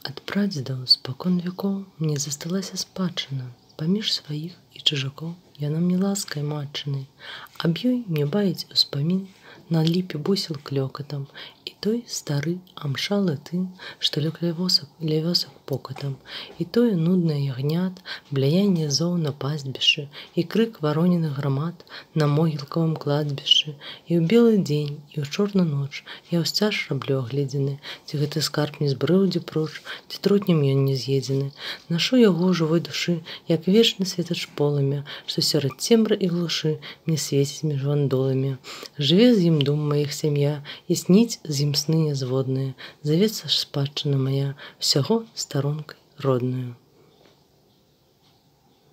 Ад прадзедаў спакон вякоў мне засталася спадчына, паміж сваіх і чужакоў яна мне ласкай матчынай, аб ёй мне баіць успамін на ліпе бусел клёкатам, і той стары амшалы тын, што лёг ля вёсак покатам, і тое нуднае ягнят, бляянне зоў на пастбішчы, і крык вароненых грамад на могілкавым кладбішчы, і ў белы дзень, і ў чорную ноч я ўсцяж раблю агледзены, ці гэты скарб не збрыў дзе проч, ці трутнем ён не з'едзены. Нашу яго жывой душы, як вечны светач полымя, што сярод цемры і глушы мне свеціць між вандоламі. Жыве з ім дум маіх сям'я, і сніць з ім сны нязводныя. Завецца ж спадчына мая, усяго старонкай родную.